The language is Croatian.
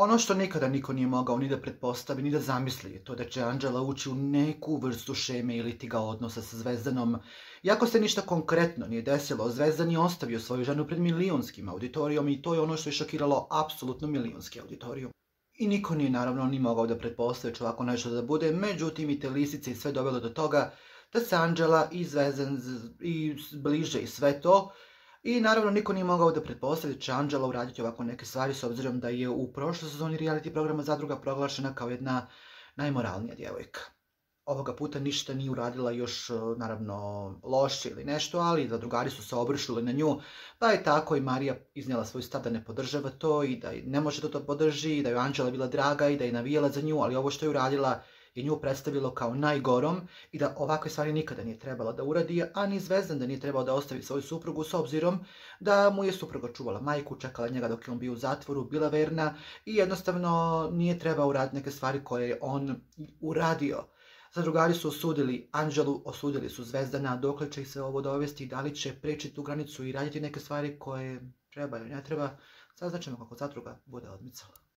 Ono što nikada niko nije mogao ni da pretpostavi, ni da zamisli je to da će Anđela ući u neku vrstu šeme ili ti ga odnosa sa Zvezdanom. Iako se ništa konkretno nije desilo, Zvezdan je ostavio svoju ženu pred milionskim auditorijom i to je ono što je šokiralo apsolutno milionski auditorijum. I niko nije naravno ni mogao da pretpostavi će ovako nešto da bude, međutim i te lisice i sve dovelo do toga da se Anđela i Zvezdan i bliže i sve to. I naravno niko nije mogao da pretpostavi da će Anđela uraditi ovako neke stvari s obzirom da je u prošloj sezoni reality programa Zadruga proglašena kao jedna najmoralnija djevojka. Ovoga puta ništa nije uradila još naravno loše ili nešto, ali zadrugari su se obrušili na nju, pa je tako i Marija iznijela svoj stav da ne podržava to i da ne može da to podrži, i da je Anđela bila draga i da je navijala za nju, ali ovo što je uradila je nju predstavilo kao najgorom i da ovakve stvari nikada nije trebala da uradi, a ni Zvezdan da nije trebao da ostavi svoju suprugu s obzirom da mu je supruga čuvala majku, čekala njega dok je on bio u zatvoru, bila verna i jednostavno nije trebao uraditi neke stvari koje je on uradio. Zadrugari su osudili Anđelu, osudili su Zvezdana, dokle će ih se ovo dovesti, da li će preći tu granicu i raditi neke stvari koje treba ili ne treba, saznaćemo kako zadruga bude odmicala.